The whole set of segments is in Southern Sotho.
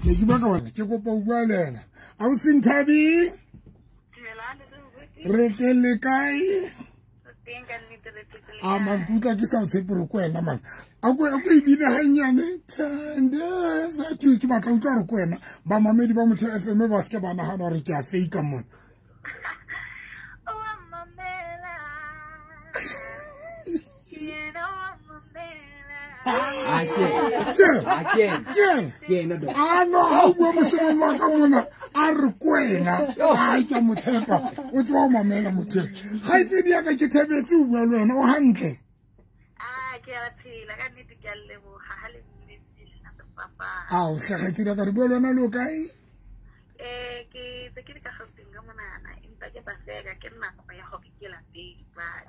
Ne ke bua ka wena, ke kopa ho bua le ena. Ausi Nthabi, re teng le kae? A man, ke utlwa ke sa o tshepe hore ke wena man. A ko e bine hanyane. Thandaza, ke batla utlwa hore ke wena. Bamamedi ba Motheo FM ba se ke ba nahana hore ke a fake mona. A no, ha o bua moshemane wa ka mona, a re ke wena. Ai, ke a mo tshepa. O tseba ho mamela motho eo. Kgaitsedi ya ka, ke thabetse ho bua le wena. O hantle? Ke a phela, ka nnete ke a leboha ha le mmitsile papa. Ao, hle kgaitsedi ya ka, re bua le wena le o kae? Ke tse ke le ka Gauteng ka monana, empa ke Paseka, ke nako ya hore ke lapeng jwale.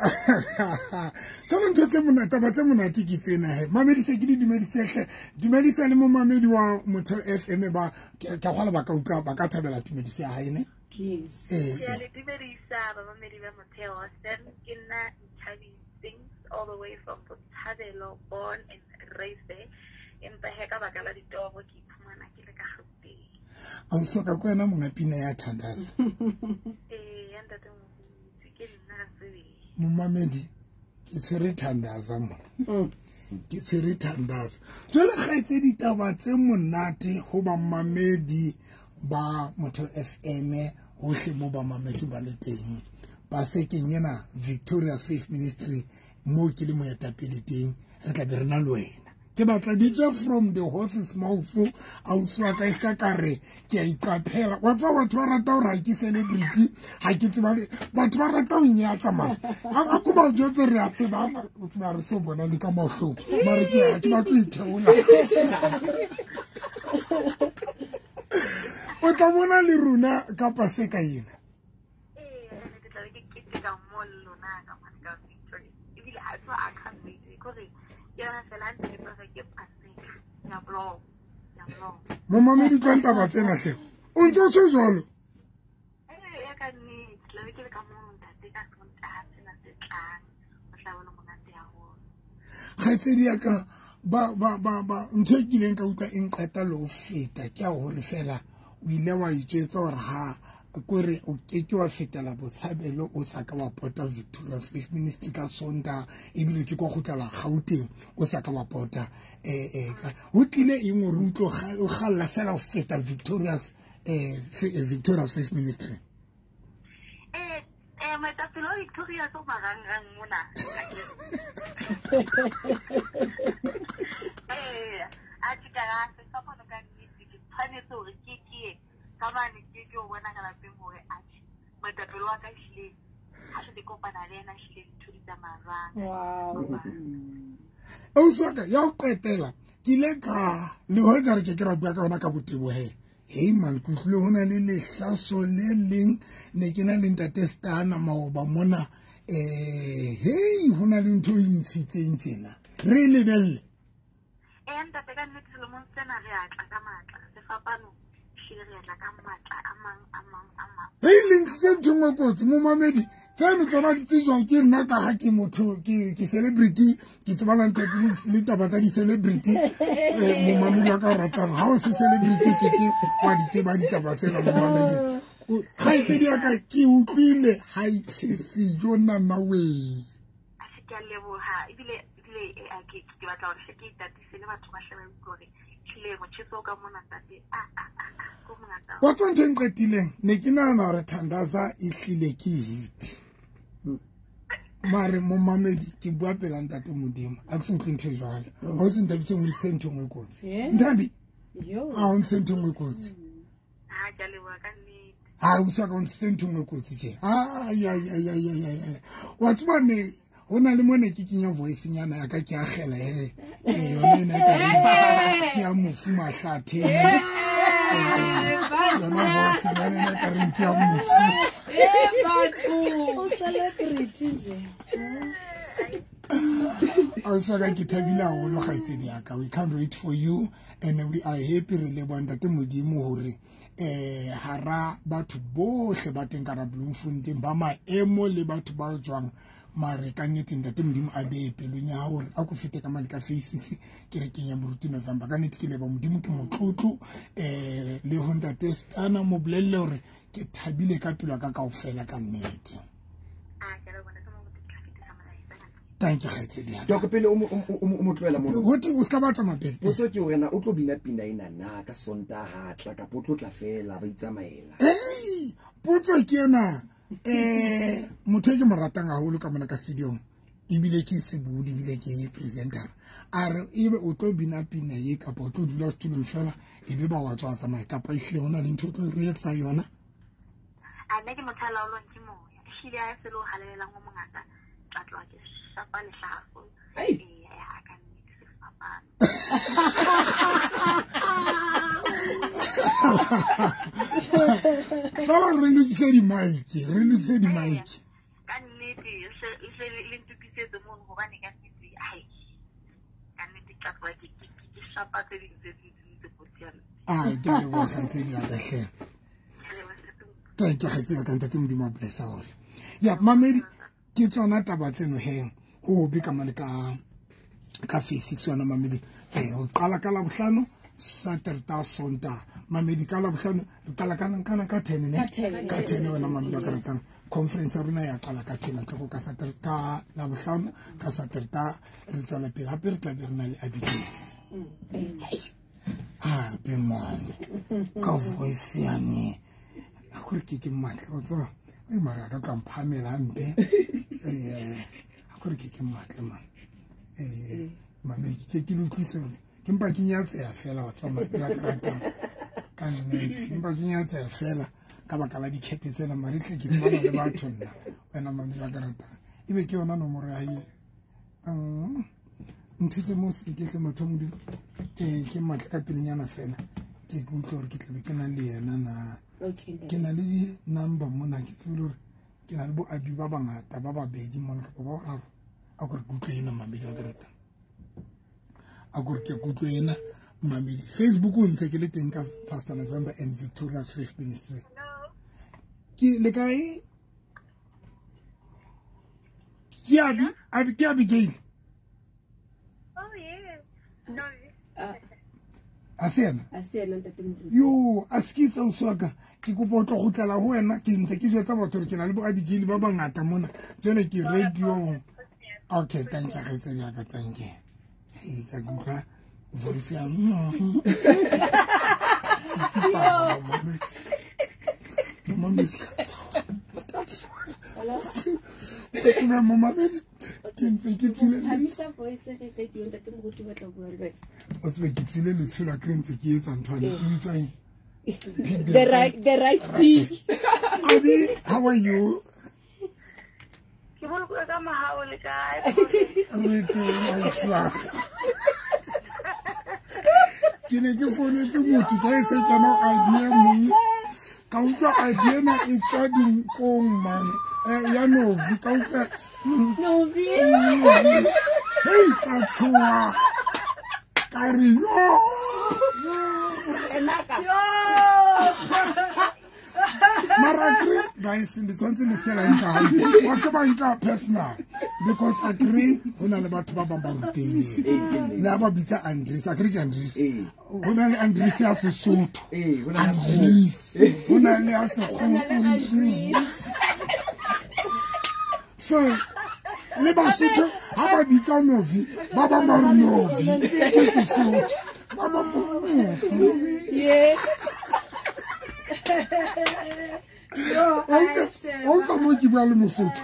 Jwale ntho tse monate, taba tse monate ke tsena he. Mamedise ke di dumedise hle. Dumedisa le momamedi wa Motheo FM ba ke ka kgwala ba ka utlwa, ba ka thabela tumediso ya hae ne? Yes. Ke a le dumedisa bamamedi ba Motheo FM, ke nna Nthabi Things all the way from Botshabelo, born and raised there. Empa he ka baka la ditoro ke iphumana ke le ka Gauteng. Ausi wa ka, ke wena monga pina ya Thandaza. Ya ntate Moruti, ke nna ka sebele. Momamedi, ke tshwere Thandaza mona. Ke tshwere Thandaza. Jwale kgaitsedi, ditaba tse monate ho bamamedi ba Motheo FM hohle mo ba mametseng ba le teng. Pasekeng ena Victorious Faith Ministry mo ke le moetapele teng, re tla be re na le wena. Ke batla di tswe from the horse's mouth. Ausi wa ka, e ska ka re ke a iqaphela. Wa tseba batho ba rata hore ha ke celebrity, ha ke tseba batho ba rata ho nyatsa man. Ha ko ba jwetse re a tseba, o tseba re so bona le ka mahlong. Mare ke ha ke batle ho itheola. O tla bona le rona ka Paseka ena. Ee, ke tla be ke keteka mo le lona ka mane ka Victoria. Ebile a tswa a can't wait, kore ke yona fela ha ntse ke tsoga ke Paseka. Ke a blog, ke a blog. Momamedi, utlwang taba tsena hle. O ntse o tjho jwalo? Ee, ya ka nnete, tla be ke le ka mono ntate ka Sontaha sena se tlang. Ho tla be le monate haholo. Kgaitsedi ya ka, ba, ntho e kileng ka utlwa e nqeta le ho feta ke ya hore fela o ile wa itswetsa hore ha kore o keke wa fetela Botshabelo o sa ka wa pota Victorious Faith Ministry ka Sontaha, ebile ke kwa kgutlela Gauteng o sa ka wa pota. Ho tlile eng hore o tlo o kgalla fela ho feta Victorious Faith Ministry? Moetapele wa Victorious o marangrang mona. A ke ka ra sefapano ka nnete, ke tshwanetse hore ke ke ye ka mane, ke ke o bona ka lapeng hore atjhe, moetapele wa ka ehlile ha se ke kopana le yena, ehlile ntho di tsamaya jwang. Wow. Ausi wa ka, ya ho qetela, ke ile ka le hoja re ke ke ra bua ka yona ka botebo he. Hei man, ke utlwile ho na le lehlaso le leng, ne ke na le ntate Stana maoba mona. Hei, ho na le ntho e ntshitseng tjena. Re e lebelle. Ntate, ka nnete selemong sena re a tla ka matla. Sefapano ehlile re a tla ka matla a mang, a mang, a mang. Hei, le ntshitse ntho e nngwe kotsi, momamedi. Tseno tsona di tsejwa ke nna ka ha ke motho, ke celebrity, ke tsebana ntho le taba tsa di-celebrity. Momamedi wa ka o ratang, ha o se celebrity, ke ke wa di tseba ditaba tsena, momamedi. Kgaitsedi ya ka, ke utlwile ha e tjhese jo nana wee. A se ke a leboha, ebile, ke batla hore hle ke itatise le batho ba hle ba utlwe hore ehlile motjheso o ka mona ntate, a, a, a, a, ko mongata. Wa tswa ntho e nqetileng, ne ke nahana hore Thandaza e hlile ke hit. Mare momamedi, ke bua pela ntate Modimo, a ke se utlwe ntho e jwalo. Ha o se Nthabiseng, o ntse ntho e nngwe kotsi. Nthabi? Yo. Ha o ntse ntho e nngwe kotsi. Ha, ke a leboha ka nnete. Ha, o tswa ka o ntse ntho e nngwe kotsi tje. Ai, ai, ai, ai, ai, ai, ai. Wa tseba ne, ho na le mo ne ke kenya voice nyana ya ka, ke akgela he. Yona ena e ka reng ke ya mofu Mahlathe. Yona voice nyana ena e ka reng ke ya mofu. Batho. O celebrity nje. Ausi wa ka, ke thabile haholo kgaitsedi ya ka. We can't wait for you and we are happy. Re leboha ntate Modimo hore hara batho bohle ba teng ka hara Bloemfontein ba maemo le batho ba tswang Mare ka nnete ntate Modimo a beye pelong ya hore a ko fete ka mane ka phase 6 kerekeng ya Moruti November. Ka nnete ke leba Modimo, ke motlotlo le ho ntate Stana mo bolelle hore ke thabile ka pelo ka kaofela ka nnete. Thank you, kgaitsedi ya ka. Dok, pele o mo tlohela mono. Ho o ska ba tsamaya pele. Potso ke hore na o tlo bina pina ena na ka Sontaha tla kapa o tlo tla fela ba itsamaela? Ei, potso ke ena. Motho e ke mo ratang haholo ka mona ka studio-ong, ebile ke sebodi, ebile ke presenter. A re ebe o tlo bina pina ye kapa o tlo dula setulong fela ebe ba wa tswa tsamaya, kapa ehlile ho na le ntho o tlo re etsa yona? A nna ke motho a laolwang ke moya. Ehlile ha e se le ho halalelang ho mongata, tla tloha ke shapa lehlafo. Ai. Ee, ka nnete sefapano. Fela re lokise di-mic, re lokise di-mic. Ka nnete, se le ntokisetse mono hobane ka nnete, ai, ka nnete tla tloha ke shapa tse ding tse tse kotsi ya mme. Ai, ke a leboha kgaitsedi ya ka hle. Thank you, kgaitsedi ya ka, ntate Modimo a bless haholo. Ya, mamedi, ke tsona taba tseno he, ho be ka mane ka phase 6 yona mamedi. Ho qala ka Labohlano, Saterta, Sonta. Mamedi ka Labohlano, re qala ka ka 10 ne? Ka 10 wena mamedi wa ka ratang. Conference ya rona ya qala ka 10 o'clock ka Saterta, ka Labohlano, ka Saterta re tswela pele. Hape re tla be re na le Abigail. Hape man, ka voice ya ne. A kore ke matle, o tseba. E mara ka tla mphamela hampe. A kore ke matle man. Mamedi ke le utlwise hore ke mpa ke nyatseha fela wa tseba mamedi wa ka ratang. Ka nnete, mpa ke nyatseha fela ka baka la dikete tsena, mare tle ke tsebana le batho nna. Wena mamedi wa ka ratang. Ebe ke yona nomoro ya hae. Nthuse mo se ke tle motho Modimo. Ke matle ka pelenyana fela. Ke utlwe hore ke tlabe ke na le yena na. Okay. Ke na le di-number mona, ke tsebile hore ke na le bo abi ba bangata ba babedi mona kapa ba bararo. A kore ke utlwe ena mamedi wa ka ratang. A kore ke utlwe ena mamedi. Facebook o ntse ke le teng ka Pastor November and Victoria's Faith Ministry. Ke le kae? Ke Abi, ke Abigail. Oh yes. No. A se yena? A se yena ntate Moruti. Yo, a se ke itse ausi wa ka. Ke kopa o tlo kgutlela ho wena, ke ntse ke jwetsa batho hore ke na le bo Abigail ba bangata mona. Jwale ke radio-ong. Okay, thank you, kgaitsedi ya ka, thank you. Hei, tsa ke utlwa voice ya Momamedi. Momamedi. Ke ntse ke tswile Phamisa voice re radio ntate Moruti ba tla bua le wena. O tsebe ke tswile letsholo a kere ntse ke etsa ntho ane, e bitswa eng? The right thing. Abi, how are you? Ke bolokwe ka mohau le kae? Re teng, ausi wa ka. Ke ne ke founetse motho ka e se kena Abi e mong. Ka utlwa Abi ena e tswa dinkong man. Ya Novi, ka utlwa Novi. Hei, ka tshoha. Ka re yo. Yo. Mara kre, guys, le tshwanetse le se la nka hampe. Wa se ba nka personal because a kre ho na le batho ba bang ba rutehileng. Le ha ba bitsa Andres, a kre ke Andres. Ho na le Andres ya Sesotho. Andres. Ho na le ya Sekgowa. So le Basotho ha ba bitsa Novi, ba bang ba re Novi ke Sesotho. Ba bang ba re Novi. Yeah. O ka mo ke bua le Mosotho.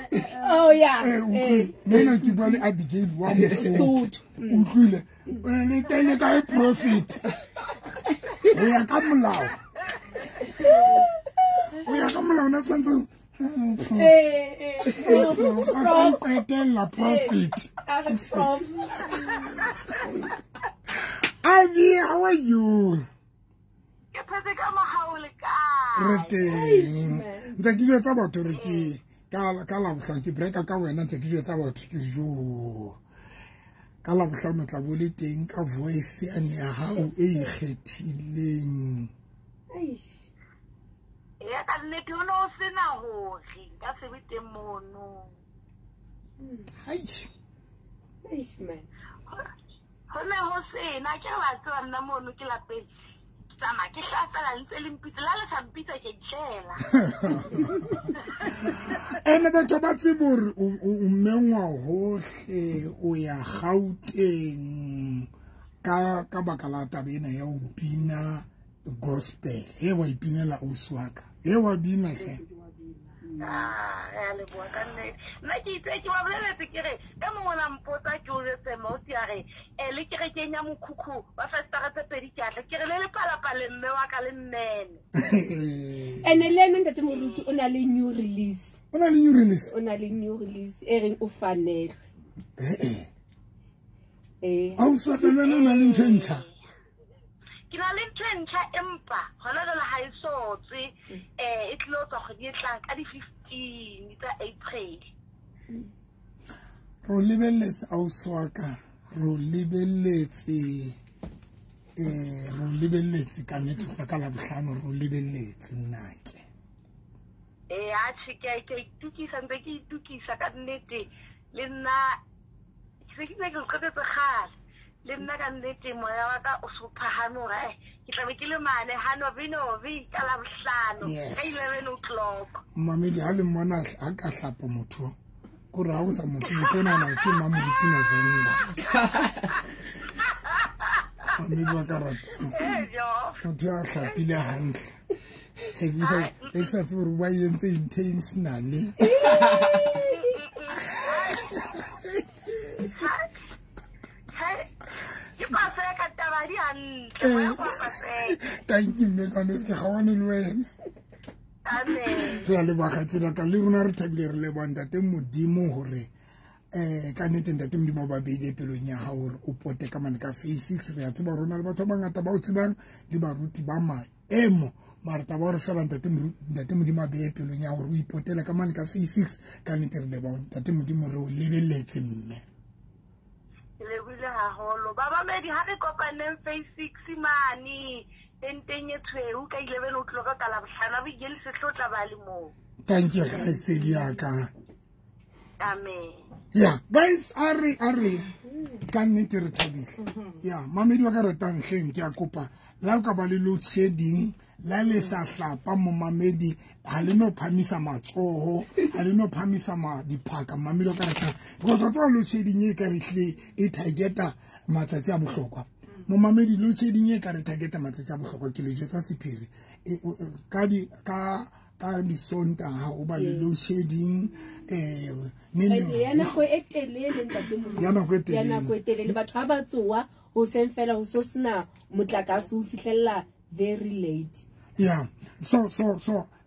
Oh yeah. Mona ke bua le Abigail wa Mosotho. Utlwile. Le teng le kae profit? Ho ya ka molao. Ho ya ka molao na tshwanetse qetella profit. Abi, how are you? Ke phetse ka mohau le kae? Re teng. Ntse ke jwetsa batho hore ke ka Labohlano ke breaka ka wena, ntse ke jwetsa batho ke jo. Ka Labohlano tla bo le teng ka voice yane ya hao e ikgethileng. Ya ka nnete ho no sena hore nka se be teng mono. Hai. Eish man. Ho ne ho sena ke re ba tseba nna mono ke lapeng. Ke tsamaya ke hlasela ntse le mpitsa la le sa mpitsa ke itlela. Ene batho ba tsebe hore o mengwa hohle, o ya Gauteng ka baka la taba ena ya ho bina gospel. E wa ipinela ausi wa ka. E wa bina hle. Ah, re a leboha ka nnete. Nna ke itse ke ba boleletse ke re e mongwe la mpotsa ke o jwetse mausi a re le kerekeng ya mokhukhu wa festara tse pedi ke atle ke re le lepalapale mme wa ka le mmene. Ene le ena ntate Moruti o na le new release. O na le new release? O na le new release e reng o fanelwe. Eh. Ausi wa ka le wena o na le ntho e ntjha? Ke na le ntho e ntjha empa hona jwale ha e so tswe, e tlilo tswa kgwedi e tlang ka di-15 tsa April. Ro lebelletse ausi wa ka, ro lebelletse ro lebelletse ka nnete ka Labohlano, ro lebelletse nnake. Atjhe, ke a itukisa, ntse ke itukisa ka nnete le nna ke se ke ne ke qetetse kgale. Le nna ka nnete moya wa ka o so phahame hore ke tla be ke le mane ha novi ka Labohlano ka 11 o'clock. Mamedi ha le mmona ha ka hlapa motho kore ha o sa mo tsebe ke nahana hore ke Mamoruti November. Mamedi wa ka ratang. Motho ya hlapile hantle. Ke sa tsebe hore ba entse intentionally. Thank you, mme ka ke gawane le wena. Amen. Re a leboha tsela ka le rona re thabile re leboha ntate Modimo hore ka nnete ntate Modimo ba beile pelong ya hao hore o pote ka mane ka phase 6. Re a tseba rona le batho ba bangata ba o tsebang le baruti ba maemo, mara taba hore fela ntate Modimo a behe pelong ya hore o ipotele ka mane ka phase 6. Ka nnete re leboha ntate Modimo, re o lebelletse mme. Lebohile haholo. Babamedi ha re kopaneng phase 6 mane tenteng e tshweu ka 11 o'clock ka Labohlano, bo ikele sehlotla ba le moo. Thank you kgaitsedi ya ka. Amen. Yeah, guys, a re ka nnete re thabile. Yeah, mamedi wa ka ratang hleng ke a kopa la o ka ba le load shedding la le sa hlapa momamedi ha le no phamisa matsoho, ha le no phamisa diphaka mamedi wa ka ratang, because wa tseba load shedding e ka re hlile e targeta matsatsi a bohlokwa. Momamedi load shedding e ka re targeta matsatsi a bohlokwa ke le jwetsa sephiri. Ka di Sontaha o ba le load shedding ya nako e telele ntate Moruti. Ya nako e telele. Ya nako e telele batho ha ba tsoa ho seng fela ho so sena motlakase o fihlella very late. Yeah. So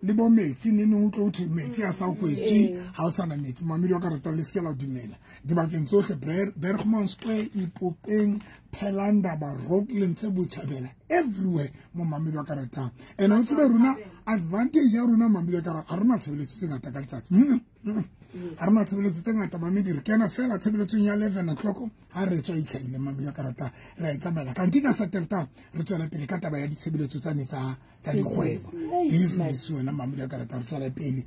le bo metsi ne neng o tlo thwe metsi a sa kwetswe ha o sana metsi. Mamedi wa ka rata le seke la dumela. Dibakeng tsohle Bergman Square, Ipopeng, Phelandaba, Rockland tse Botjhabela, everywhere mo mamedi wa ka ratang. And o tsebe rona advantage ya rona mamedi wa ka ha rena tshebeletso tse ngata ka letsatsi. Ha rena tshebeletso tse ngata mamedi, re kena fela tshebeletsong ya 11 o'clock ha re tswa itjhaile mamedi wa ka ratang, re a itsamaela. Kanti ka Saterta re tswela pele ka taba ya ditshebeletso tsane tsa dikgwebo. Business wena mamedi wa ka ratang, re tswela pele.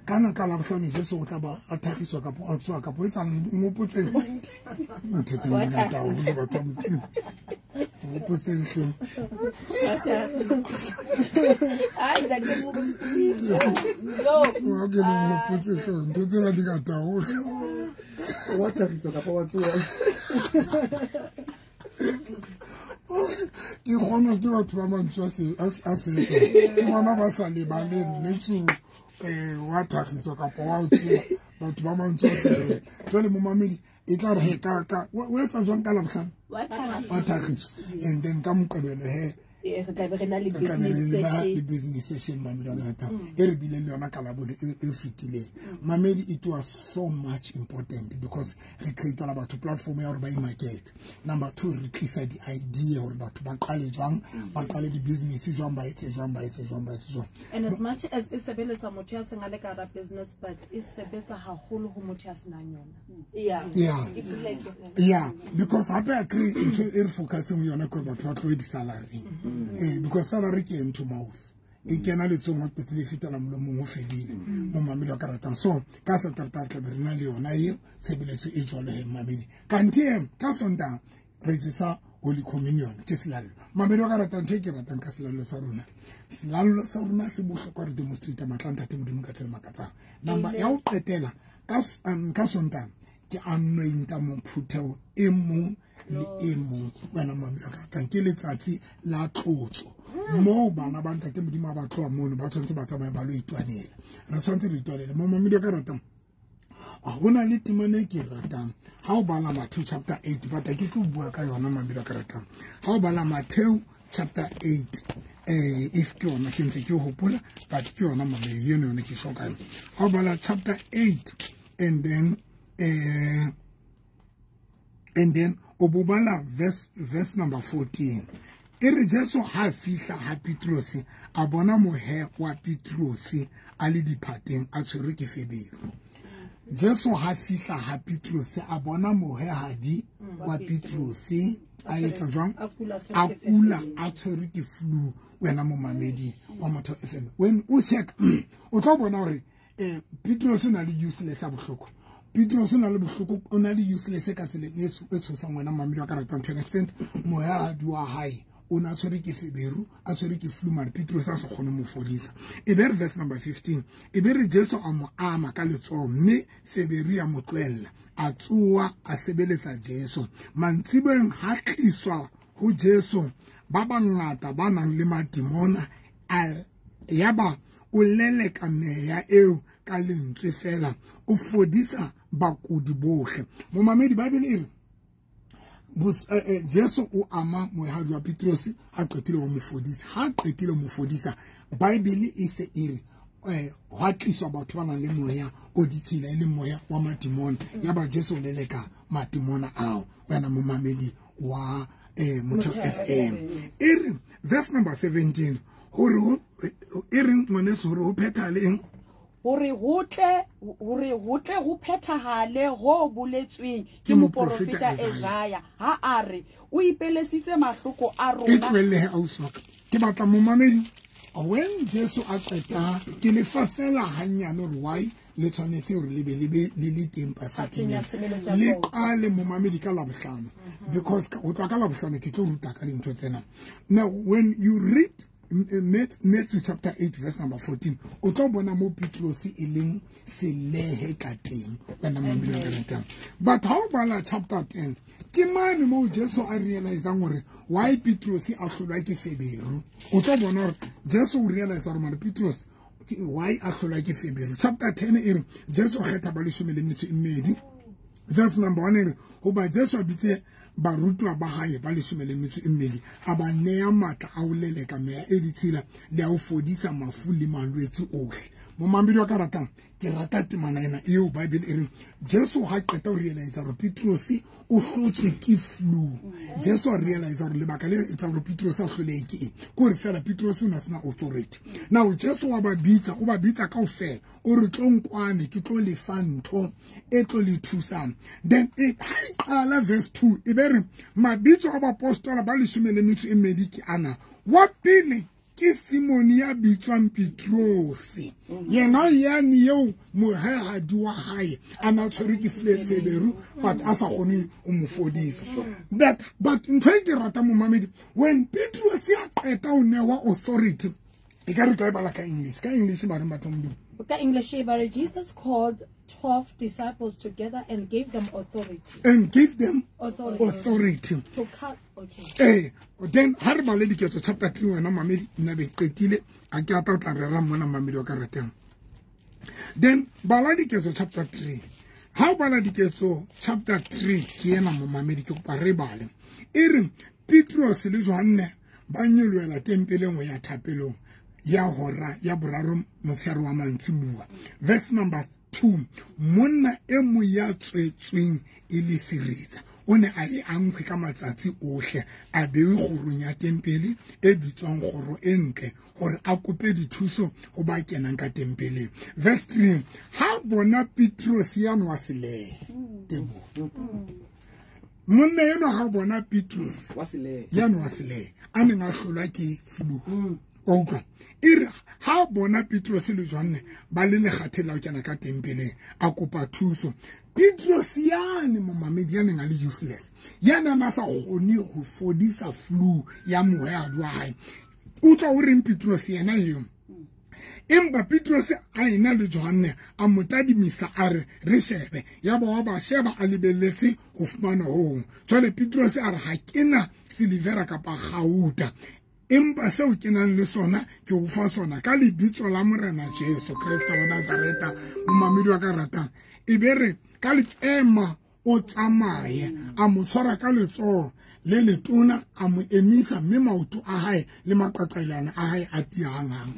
Kana ka Labohlano Jesu o tla ba a thagiswa kapa a tswa kapa e tsang ngopotseng ntho tse ngata haholo batho ba Modimo. Ngopotseng hleng. Ai ntate Moruti. No. Wa ke le ngopotseng hleng ntho tsena di ngata haholo. Wa thagiswa kapa wa tsoa. Ke kgonwa ke batho ba mantswe a setso. Ke bona ba sa lebaleng le tso wa thagiswa kapa wa tsoa batho ba mantswe a setso. Jwale momamedi e tla re ka o etsa jwang ka Labohlano? Wa thagiswa. And then ka Moqebelo he re tla be re na le business session. Le business session mamedi wa ka ratang e re bileng le yona ka Labone e fetileng. Mamedi, it was so much important because re createla batho platform ya hore ba imarket. Number 2, re tlisa di-idea hore batho ba qale jwang, ba qale di-business jwang, ba etse jwang, ba etse jwang, ba etse jwang. And as much as e sebeletsa motho ya seng a le ka hara business, but e sebetsa haholo ho motho ya senang yona. Yeah. Yeah. Yeah, because hape a kry ntho e re focuseng ho yona ke hore batho ba tlohe di-salary. Because salary ke hand to mouth. E kena letsong wa qetile fetela molomong o fedile. Momamedi wa ka ratang. So ka Satertaha tla be re na le yona eo tshebeletso e jwalo he mamedi. Kanthe ka Sontaha re jesa Holy Communion ke selallo. Mamedi wa ka ratang, ntho e ke ratang ka selallo sa rona. Selallo sa rona se bohlokwa, re demonstrate matla a Ntate Modimo ka tsela makatsang. Number ya ho qetela ka Sontaha ke anointa mophutheo e mong le e mong. Wena mamedi wa ka ratang, ke letsatsi la tlotso. Moo bana ba Ntate Modimo ba tloha mono ba tshwanetse ba tsamaye ba lo itwanela. Re tshwanetse re itwanele. Mo mamedi wa ka ratang, hona le temana e ke ratang. Ha o bala Matthew chapter 8, but ke tlo bua ka yona mamedi wa ka ratang. Ha o bala Matthew chapter 8, if ke yona ke ntse ke hopola, but ke yona mamedi eno yona ke shoka yona. Ha o bala chapter 8 and then o bo bala verse number 14. E re Jesu ha fihla ha Petrose, a bona mohe wa Petrose a le diphateng a tshwerwe ke feberu. Jesu ha fihla ha Petrose, a bona mohehadi wa Petrose a etsa jwang? A kula a tshwerwe ke flu. Wena momamedi wa Motheo FM, when o check o tlo bona hore Petrose o na le useless a bohloko. Petrose o na le bohloko, o na le useless ka tsela e tshosang wena momamedi wa ka ratang. To an extent mohehadi wa hae o na tshwerwe ke feberu, a tshwerwe ke flu, mare Petrose a se kgone mo fodisa. E be re verse number 15, e be re Jesu a mo ama ka letsoho mme feberu ya mo tlohella, a tsoha a sebeletsa Jesu. Mantsiboeng ha tliswa ho Jesu ba bangata ba nang le madimona, yaba o leleka meya eo ka lentswe fela, o fodisa bakudi bohle. Momamedi, Bible e re Jesu o ama mohadi wa Petrose ha qetile ho mo fodisa. Ha qetile ho mo fodisa, Bible e se e re hwa tliswa batho ba nang le moya o ditshila, e leng moya wa madimona. Yaba Jesu o leleka madimona ao. Wena momamedi wa Motheo FM. E re verse number 17, hore e reng ngwaneso, hore ho phethahale eng? Hore ho tle ho phethahale ho boletsweng ke moporofeta Isaiah ha a re o ipelesitse mahloko a rona. E tlohelle ausi wa ka. Ke batla momamedi, when Jesu a qeta, ke le fa fela hanyane hore why le tshwanetse hore le be le le teng pasakeng ya le qale momamedi ka Labohlano, because ho tloha ka Labohlano ke tlo ruta ka dintho tsena. Now when you read Matthew chapter 8 verse number 14, o tlo bona mo Petrose e leng selehe ka teng, wena mamedi wa ka ratang. But ha o bala chapter 10, ke mane mo Jesu a realizang hore why Petrose a hlolwa ke feberu. O tlo bona hore Jesu o realize hore mare Petrose why a hlolwa ke feberu. Chapter 10 e re Jesu o kgetha ba 12, verse number 1 e re hoba Jesu a bitse barutwa ba hae ba 12, a ba neya matla a ho leleka meya e ditshila le a ho fodisa mafu le malwetse ohle. Momamedi wa ka ratang, ke rata temana ena eo Bible e reng Jesu ha qeta ho realize hore Petrose o hlotswe ke flu. Jesu a realize hore lebaka le etsang hore Petrose a hlolehe ke eng, ke hore fela Petrose o na sena authority. Now Jesu wa ba bitsa, o ba bitsa kaofela, o re tlo nkwane, ke tlo le fa ntho e tlo le thusang. Then ha e qala verse 2 e be re mabitso a baapostola ba 12 ke ana. Wa pele ke Simone ya bitswang Petrose, yena yane eo mohehadi wa hae a na tshwerwe ke feberu, but a sa kgone ho mo fodisa. But ntho e ke ratang momamedi, when Petrose a qeta ho newa authority, e ka re tlo e bala ka English. Ka English ba re matlo Modimo. Ka English ba re Jesus called 12 disciples together and gave them authority. And gave them authority. To cut, okay. Then ha re bale Diketso chapter 3 wena mamedi, nna be qetile, a ke ata o tla rera mona mamedi wa ka ratang. Then bala Diketso chapter 3. Ha o bala Diketso chapter 3 ke ena momamedi ke kopa re bale. E re Petrose le Johanne ba nyolohela tempeleng ho ya thapelong ya hora ya boraro motshehare wa mantsibuwa. Verse number 2, monna e mong ya tswetsweng e le seretsa o ne a e ankgwe ka matsatsi ohle, a bewe kgorong ya tempele e bitswang kgoro e ntle, hore a kope dithuso ho ba kenang ka tempeleng. Verse 3, ha bona Petrose ya nwa selehe. Tebo. Monna enwa ha bona Petrose ya nwa selehe, a neng a hlolwa ke flu. Wa utlwa? E re ha bona Petros le Johanne ba le lekgatheng la ho kena ka tempeleng, a kopa thuso. Petros yane momamedi ya neng a le useless, ya neng a sa kgone ho fodisa flu ya mohwehadi wa hae. Utlwa o reng Petros yena eo? Empa Petros a ena le Johanne a mo tadimisa a re re shebe, ya ba wa ba sheba a lebelletse ho fumana ho hong. Jwale Petros a re ha ke na silivera kapa kgauta, empa seo ke nang le sona ke o fa sona ka lebitso la Morena Jesu Kreste wa Nazareta. Momamedi wa ka ratang, e be re ka le ema o tsamaye. A mo tshwara ka letsoho le letona, a mo emisa, mme maoto a hae le maqaqailana a hae a tiya hanghang.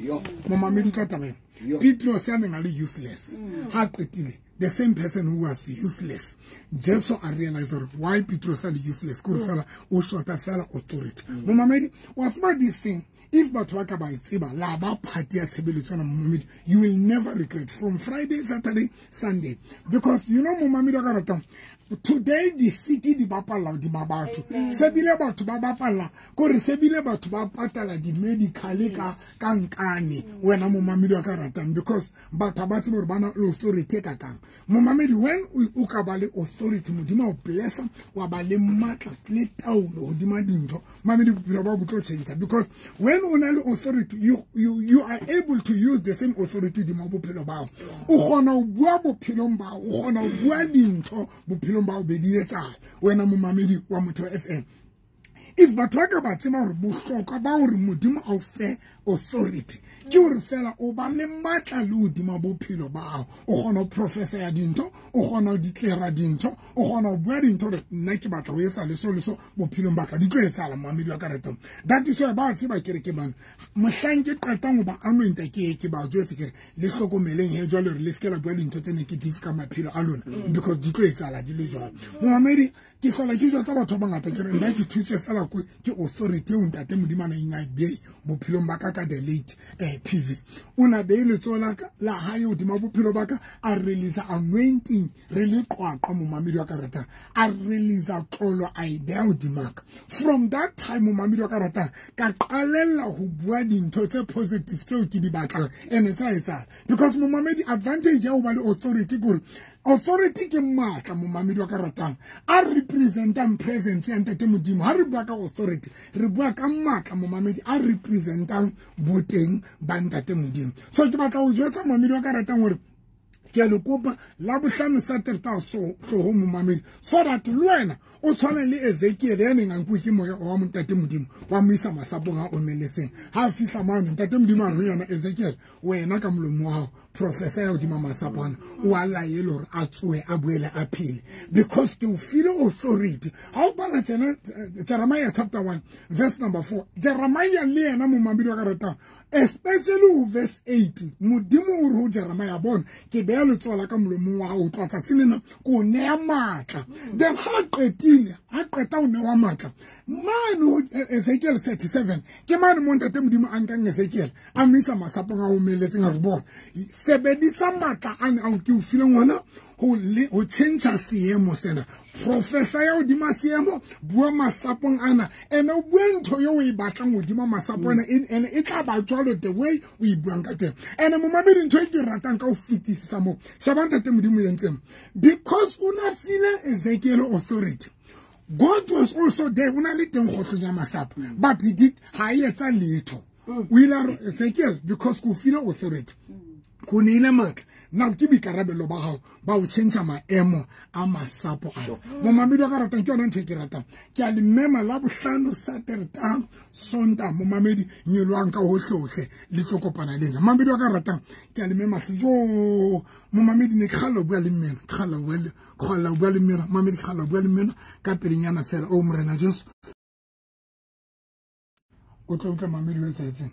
Momamedi ka taba ena, Petros ya neng a le useless, ha qetile the same person who was useless, Jesu a realize gore why Petros a le useless, ke gore fela o shota fela authority. Momamedi, wa tseba this thing, if batho ba ka ba e tseba la ba party ya tshebeletso yona, momamedi, you will never regret from Friday, Saturday, Sunday. Because you know, momamedi wa ka ratang, today the city di bapalla hodima batho, sebile batho ba bapalla kore sebile batho ba patala di-medical ka nkane. Wena momamedi wa ka ratang, because batho ba tsebe hore ba na le authority e kakang. Momamedi, when o ka ba le authority, Modimo o blessa, wa ba le matla le taolo hodima dintho, momamedi, bophelo ba bo tlo change. Because when o na le authority, you are able to use the same authority hodima bophelo ba hao. O kgona ho bua bophelong ba hao, o kgona ho bua dintho bophelong ba o be di etsahala. Wena momamedi wa Motheo FM, if batho ba ka ba tseba hore bohlokwa ba hore Modimo a o fe authority ke hore fela o ba le matla le hodima bophelo ba hao, o kgona ho professa ya dintho, o kgona ho declare dintho, o kgona ho bua dintho hore nna ke batla ho etsa le so le so bophelong ba ka, di tlo etsahala. Momamedi wa ka ratang, that is why ba tseba kereke bana, mohlang ke qetang ho ba anointa, ke ba jwetse ke re le hlokomeleng he jwale hore le se ke la bua dintho tse negative ka maphelo a lona, because di tlo etsahala di le jwalo. Momamedi, ke hlola ke jwetsa batho ba bangata ke re nna ke thuswe fela ke authority eo ntate Modimo a neng a e behe bophelong ba ka ka the late PV. O na behe letsoho la hae hodima bophelo ba ka, a release anointing re le qwaqwa. Momamedi wa ka ratang, a release tlolo a e beha hodima ka. From that time, momamedi wa ka ratang, ka qalella ho bua dintho tse positive tseo ke di batlang, ene tsa etsahala. Because momamedi, advantage ya ho ba le authority ke hore authority ke matla. Momamedi wa ka ratang, a representang presence ya ntate Modimo. Ha re bua ka authority, re bua ka matla, momamedi, a representang boteng ba ntate Modimo. So ke batla ho jwetsa momamedi wa ka ratang hore ke a le kopa la bohlano Saturday so tloho momamedi, so that le wena o tshwane le Ezekiel ya neng a nkuwe ke moya wa ntate Modimo wa mo isa masapong a omeletseng. Ha a fihla mane, ntate Modimo a re ho yena, Ezekiel, wena ka molomo wa hao professor ya hodima masapo ana, o a laele hore a tsohe a boele a phele, because ke o file authority. Ha o bala tjena Jeremiah chapter 1 verse number 4, Jeremiah le yena momamedi wa ka ratang, especially ho verse 8, Modimo o re ho Jeremiah, bona ke beha letsoho la ka molomong wa hao, o tloha tsatsing lena ke o neha matla. Then ha qetile, ha qeta ho newa matla mane ho Ezekiel 37, ke mane mo ntate Modimo a nkang Ezekiel a mo isa masapong a omeletseng, a re bona sebedisa matla ane ao ke o fileng ona ho tjhentjha seemo sena. Professor ya hodima seemo, bua masapong ana, ene o bue ntho eo o e batlang hodima masapo ana, ene e tla ba jwalo the way o e buang ka teng. Ene momamedi, ntho e ke ratang ka ho fetisisa moo, sheba ntate Modimo entseng, because o na file Ezekiel authority, God was also there. O na le teng kgohlong ya masapo, but he did ha e etsa letho. O ile a re Ezekiel, because ko file authority, ko neile matla, now ke boikarabelo ba hao ba ho tjhentjha maemo a masapo ana. Momamedi wa ka ratang, ke yona ntho e ke ratang. Ke a le mema la bohlano Saturday Sonta, momamedi, nyolwang ka hohlehohle le tlo kopana le nna. Momamedi wa ka ratang, ke a le mema hle. Jo, momamedi, ne ke kgalla ho bua le mmena, ke kgalla ho bua le mmena, momamedi, ke kgalla ho bua le mmena ka pelenyana fela. O Morena Jesu, o tlo utlwa momamedi o etsahetseng,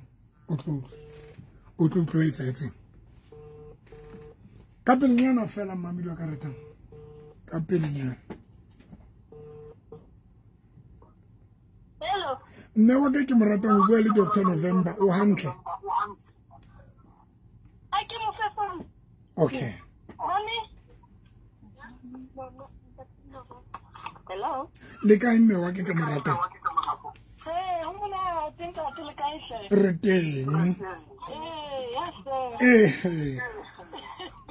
o tlo utlwa o etsahetseng. Ka pelenyana fela, momamedi wa ka ratang, ka pelenyana. Hello. Mme wa ka ke mo ratang, o bua le Dr. November, o hantle? A ke mo fe phone. Okay. Mommy. Hello. Le kae mme wa ke ke mo ratang? Re teng.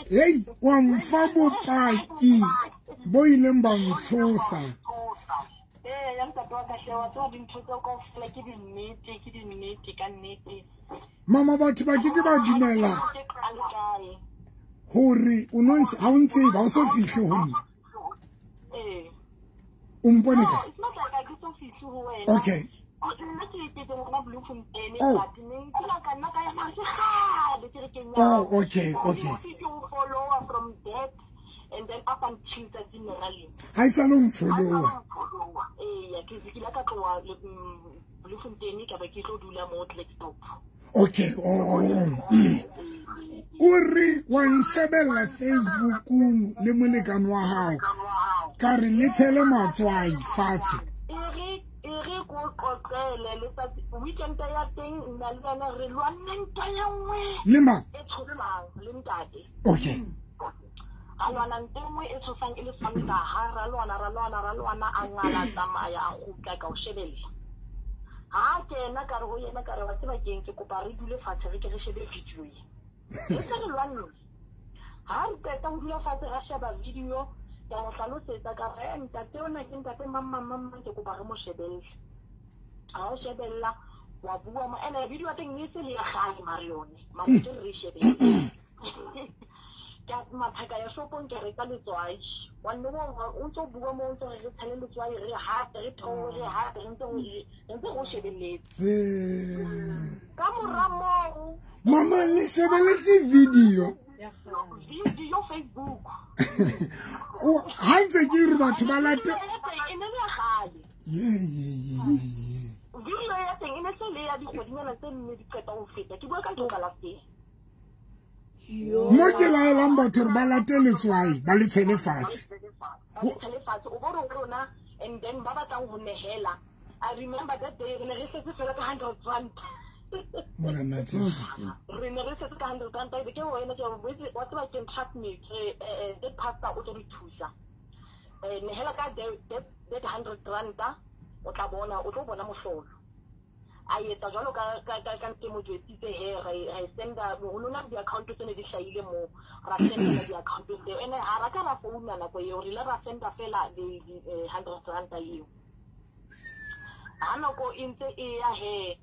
Hey, wa mfa bopaki bo ileng ba ntshosa. Ya ntate wa ka hle wa tseba dintho tseo kaofela ke dinnete ka nnete. Mama batho ba ke ba dumela hore o no ha o ntse ba o so fihle ho nna. O mpone ka? It's not like I ke so fihle ho wena. Okay. Nna ke ke ngwana Bloemfontein but ne ke la ka nna ka ya mare ke kgale ke re ke nya. Oh, okay, okay. Ke o follow from that and then up until tsatsing lona lena. Ha e sa le mfollowa. Ee, ke ile ka tloha Bloemfontein ka ba ke tlo dula mo Klerksdorp. Okay, oh. O re wa nshebella Facebookong le molekane wa hao. Ka re le tshele matswai fatshe. E re ko qoqele letsatsi weekend ya teng nna le wena re lwanne ntwa ya nngwe. Le mang? E tshosang le ntate. Okay. A lwana ntwa e nngwe e tshosang e le Sontaha, ra lwana a ngala tsamaya a kgutla ka o shebella. Ha kena ka re ho yena ka re wa tseba keng ke kopa re dule fatshe re ke re shebe video e. Re se re lwanne. Ha re qeta ho dula fatshe ra sheba video ka mo hlalosetsa ka re ntate ona ke ntate mang ke kopa re mo shebelle. Ha o shebella wa bua mo ene video ya teng e se le ya kgale mare yone mare ke re shebelle. Ka mathaka ya shopong ke reka letswai wa nne o ntso bua mo o ntso re tshele letswai re hape re theohe re hape re ntse go shebelletse. Ka mora moo mama le shebelletse video video Facebook. O ha ntse ke re batho ba late e ne le kgale. Ye. Video ya teng e ne se le ya dikgwedinyana tse nne di qeta ho feta. Ke bua ka ntho ka last. Mo ke laelang batho re ba late letswai ba le tshele fatshe. Ba le tshele fatshe o bone rona and then ba batlang ho nehela. I remember that day re ne re setse fela ka 100 rand. Morena Jesu. Re ne re setse ka 100 rand e ke wena ke wa tseba ke trust me that pastor o tlo re thusa. Nehela ka that 100 rand o tla bona o tlo bona mohlolo. A etsa jwalo ka ke mo jwetsitse he re senda moholo na di-account tse ne di hlahile moo ra senda di-account tseo ene ha ra ka ra founa nako eo re ile ra senda fela di 100 rand eo. Ha nako e ntse e ya he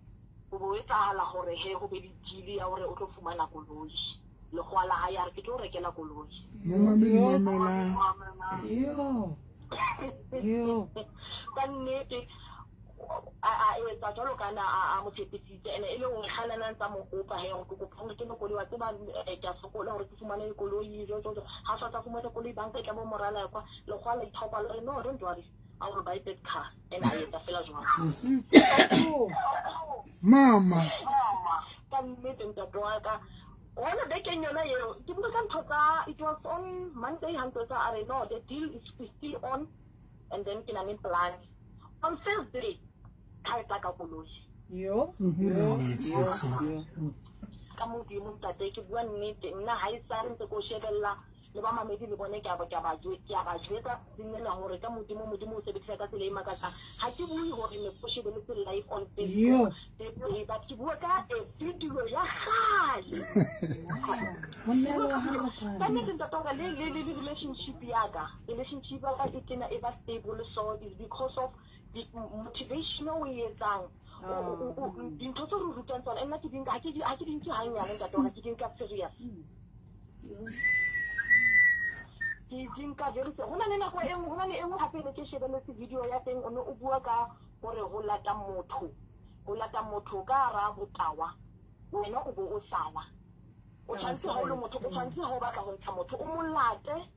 ho bo etsahala hore he ho be le deal ya hore o tlo fumana koloi lekgwala ha ya re ke tlo rekela koloi. Momamedi mamela. Yo. Ka nnete a etsa jwalo ka na a mo tshepisitse ene e le hore kgalanang tsa mo kopa he hore ke kopa hore ke koloi wa tseba ke a sokola hore ke fumane koloi jo ha sa tsa fumana koloi banka e tla bo morala kwa lekgwala ithaopa le re no don't worry I will buy that car and a etsa fela jwalo. Mama ka nnete ntate wa ka ona bekeng yona eo ke bua ka ntho tsa it was on Monday ha ntho tsa a re no the deal is still on and then ke na le plan on Thursday ka etla ka koloi. Yo. Ka modimo ntate ke bua nnete nna ha e sa re ntse ko shebella le ba mamedi le bone ke a ba jwetsa tsena hore ka modimo o sebedisa ka tsela e makatsang. Ha ke bue hore ne ko shebelletse live on Facebook but ke bua ka video ya kgale. Ka nnete ntate wa ka le relationship ya ka e tena e ba stable so is because of the motivation o e etsang dintho tse re rutang tsona nna ke di nka ha ke di nke hanyane ntate wa ka ke di nka serious. Ke di nka very serious. Ho na le nako e nngwe ho na le e nngwe hape ne ke shebelletse video ya teng o ne o bua ka hore ho lata motho ka hara botawa wena o bo o sala o tshwanetse ha o le motho o tshwanetse ha o batla ho ntsha motho o mo late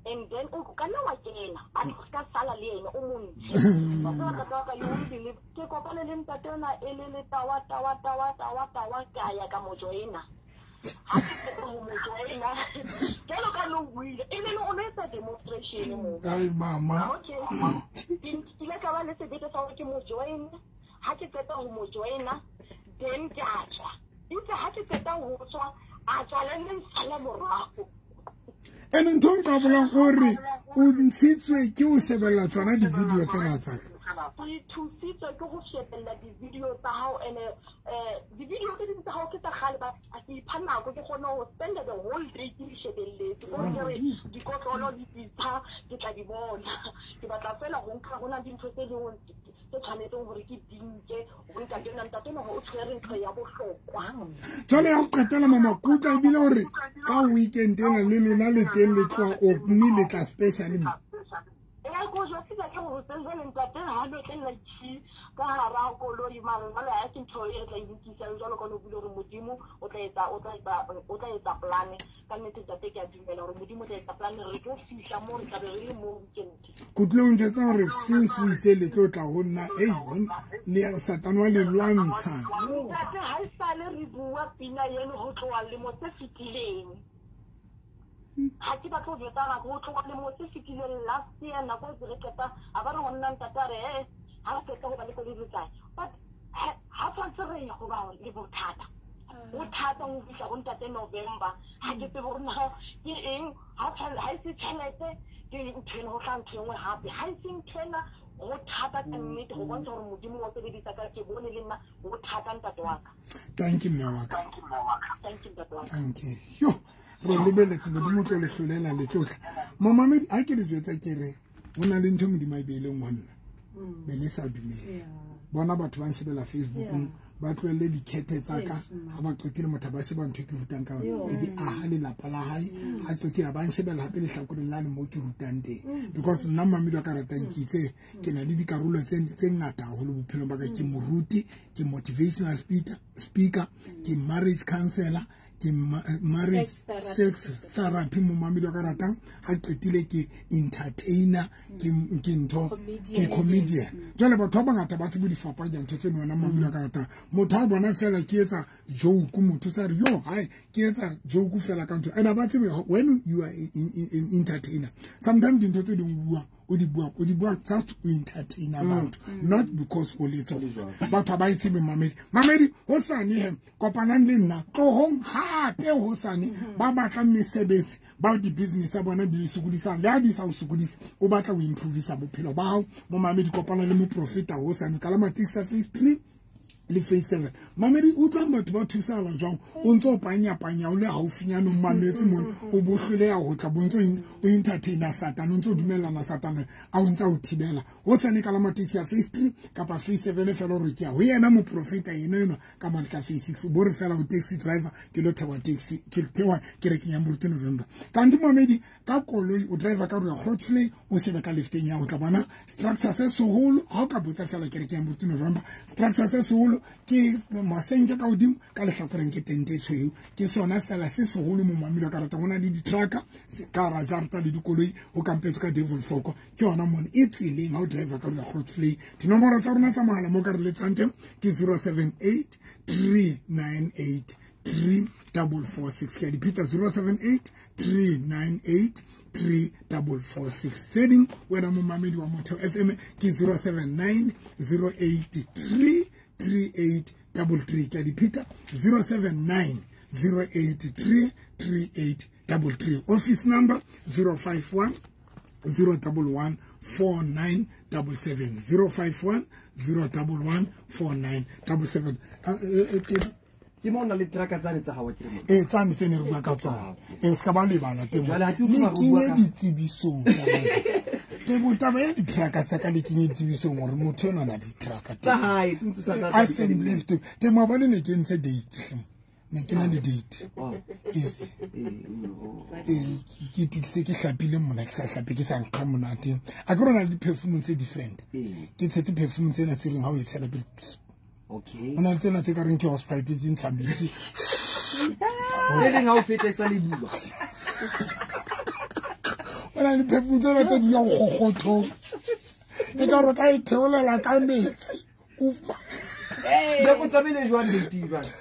and then o ka nna wa kena but o ska sala le yena o mo ntshe. Wa tseba ka you won't believe ke kopane le ntate ona e le le tawa ka ya ka mo joina. Ha ke qeta ho mo joina jwalo ka no buile e le o etsa demonstration mo. Ai mama. Okay. Ke ile ka ba le sebete sa hore ke mo join. Ha ke qeta ho mo joina then ke a tswa. Itse ha ke qeta ho tswa a tswa le nna sala morago. Ene ntho nka bolang hore o ntshitswe ke o shebella tsona di-video tsena tsa ka. Ke thusitswe ke go shebella di-video tsa hao ene di-video tse ding tsa hao ke tsa kgale ba ke ipha nako ke kgone ho spend the whole day ke di shebelletse. Ko ke re dikotlolo di pitsa ke tla di bona. Ke batla fela go nka go na dintho tse dingwe tse tshwanetseng hore ke dinke go ntate nna ntate no o tshwere ntho ya bohlokwa. Jwale ya go qetela mama kutla ebile hore ka weekend ena le lona le teng le tloha mme le tla special mo. Ko jwetsitse ke hore jwale ntate ha lo tla chi ka hara koloi mare jwale ha se ntho e tla ilukisa jwalo ka no bule hore Modimo o tla etsa plan ka nnete ntate ke a dumela hore Modimo o tla etsa plan re tlo fihla mo re tla be re le mo weekend. Ke tlile o njwetsa hore since o itse le tlo tla ho nna ei le Satane wa le lwantsha. Ntate ha e sale re bua pina eno ho tloha lemo tse fetileng. Ha ke batlo jwetsa ga go tloga le mo se fetileng last year nako e re qeta a ba re go nna ntate a re ha re qeta go ba le koloi re tlae but ha tshwanetse re ye go ba le bothata bothata go fihla go ntate November ha ke tsebe gore na ke eng ha e se tšhelete ke ntho ena go tla ntho e nngwe gape ha e se ntho ena go thata ka nnete go bontsha gore Modimo wa sebedisa ka ke bone le nna go thata ntate wa ka. Thank you mme wa ka. Thank you ntate wa ka. Thank you. Yo re lebeletse Modimo tlo le hlolela le tlotla. Momamedi ha ke le jwetsa ke re ho na le ntho Modimo a e beileng ho nna be le sa dumele. Bona batho ba nshebela Facebookong ba tlohelle dikhethe tsa ka ha ba qetile motho ba sheba ntho e ke rutang ka yona e be aha lelapa la hae ha qetile ba nshebela hape lehlakoreng la le mo ke rutang teng because nna mamedi wa ka ratang ke itse ke na le dikarolo tse ngata haholo bophelong ba ka. Ke moruti, ke motivational speaker, ke marriage counselor, ke marriage sex therapy mo mamedi wa ka ratang ha qetile ke entertainer, ke ntho ke comedian. Jwale batho ba bangata ba tsebo di fapanya ntho tseno wena mamedi wa ka ratang motho a bona fela ke etsa joke motho sa re yo hai ke etsa joke fela ka ntho ena ba tsebe when you are an entertainer sometimes dintho tse ding bua o di bua just to entertain about not because o le tsona batho ba itsebe mamedi mamedi ho sane he kopanang le nna tlohong hape ho sane ba batla mesebetsi ba di business tsa bona di sokodisang le ha di sa o sokodisa o batla o improvisa bophelo ba hao mo mamedi kopana le moprofeta ho sane ka la Matiksa phase 3 le phase 7. Mamedi utlwang batho ba thusala jwang o ntso panya panya o le haufinyana o mametse mona o bohloleha ho tla bontso o entertainer Satane o ntso dumellana Satane a o ntsa o thibela ho sane ka la Matiksa ya phase 3 kapa phase 7 fela hore ke ya ho yena moprofeta yena eno ka mane ka phase 6 bo re fela o taxi driver ke lo thewa taxi ke thewa kerekeng ya Moruti November. Kanti mamedi ka koloi o driver ka rona Grootsley o shebe ka lefteng ya ho tla bona structure se seholo ha o ka botsa fela kerekeng ya Moruti November structure se seholo ke masenke ka hodimo ka lehlakoreng ke tente e tshweu ke sona fela se seholo mo mamedi wa ka ratang ho na le di-trucker ka hara jarta le dikoloi ho kampetswe ka Devil Foko ke yona mona e tseleng ha o driver ka rona Grootsley. Dinomoro tsa rona tsa mohala mo ka re letsang teng ke 078 398 3446 ke a dipheta 078 398 3446. Tse ding wena mo mamedi wa Motheo FM ke 079 083 3833 ke a dipheta 079 083 3833. Office number 051 011 4977 051 011 4977. Ke mo na le trucker tsane tsa hao ke re mo tsane tse ne re bua ka tsona se ka ba lebala temo le kenye ditsebisong temo taba ya di-trucker tsa ka le kenye ditsebisong hore motho enwa na di-trucker tsa hae tse ntse tsa I send lift temo ba ne ke ntse date ne ke na le date ke tukise ke hlapile mona ke sa hlape ke sa nkga monate a ke rona le di-perfume tse different ke tshetse perfume tsena tse reng ha o e tshela pele. Okay. O na le tsena tse ka reng ke hosepipe tse ntshang metsi. E reng ha o feta e sa le bua. O na le perfume tsena tse dulang kgokgothong. E ka re ka e theolela ka metsi. Be go tsamaile jwang date jwang?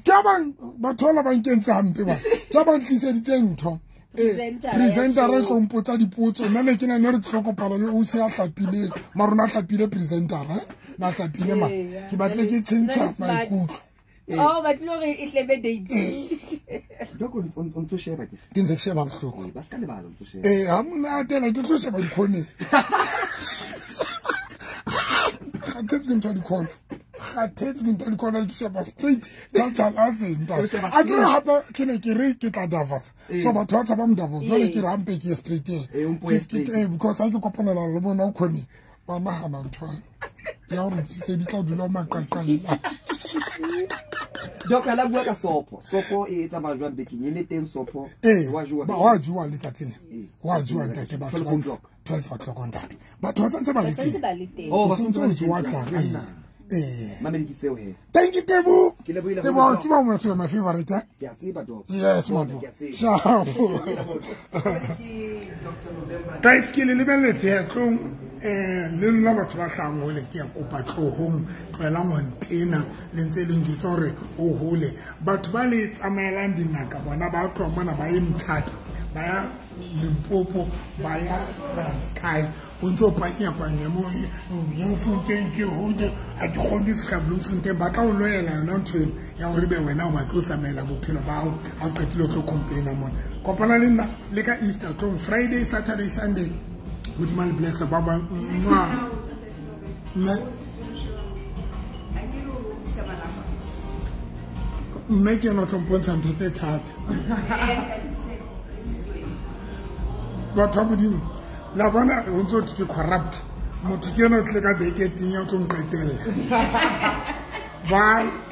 Ke bang batho ba ba nkentse hampe ba. Ke ba ntliseditse ntho. Presenter e tlo mpotsa dipotso nna ne ke na ne re tlo kopana le o se a hlapile mara ona hlapile presenter ba hlapile ma ke batle ke tjhentjha maikutlo Oh, batle hore e hlebe date Doko o ntso sheba ke ke ntse ke sheba bohloko ba ska lebala o ntso sheba ha mona atela ke tlo sheba dikhoneng. Kgathetse ke ntho ya dikhona. Kgathetse ke ntho ya dikhona, ke sheba straight tjhatjhalatseng ntate. A ke re hape ke ne ke re ke tla Davos. So batho ba tshabang Davos, jwale ke re hampe ke ye straight. Eh, o mpo ye straight. Because ha ke kopanela le bona o khone ba nahana ntho ya hore se di tla dula maqaqaila. Doc, la bua ka sopho. Sopho e tsamaya jwang bekeng? E le teng sopho? Ee, Wa jowa ba bekeng? wa jowa letsatsi le. Ee. Wa jowa ntate, batho 12 ba o'clock. 12 o'clock ntate. Batho ba santse ba Ba le santse teng. ba le teng. Oh, O ba santse santse o ba le jowa teng. tla. Ee. Mamedi ke tseo he. Thank you, Tebo. Ke lebohile Tebo, haholo, o tseba motho my favorite, eh? Ke a tseba, Doc. Yes, Bona, my ke a tseba. Sharp. Ke Dr. November. Guys, ke le lebelletse ya tlong le nna batho ba hlahang hole ke ya kopa tlohong, tlohelang ho ntena le ntse le njwetsa hore o hole. Batho ba le tsamaelang dingaka bona ba tloha mona ba ye Mthatha, ba ya Limpopo, ba ya Transkei, o ntso panya-panya mo Bloemfontein ke hole, ha ke kgone ho fihla Bloemfontein. Ba tla o loyela yona ntho eno ya hore ebe wena o batle ho tsamaela bophelo ba hao, ha o qetile o tlo complaina mona. Kopana le nna le ka Easter tlong, Friday, Saturday, Sunday. Modimo a le bless ba bang. Mwah. Mme mme ke ena o tlo mpontsha ntho tse thata. Batho ba Modimo, la bona ho ntso thwe ke corrupt. Motho ke ena o tlile ka beke e teng ya o tlo nqetella. Bye.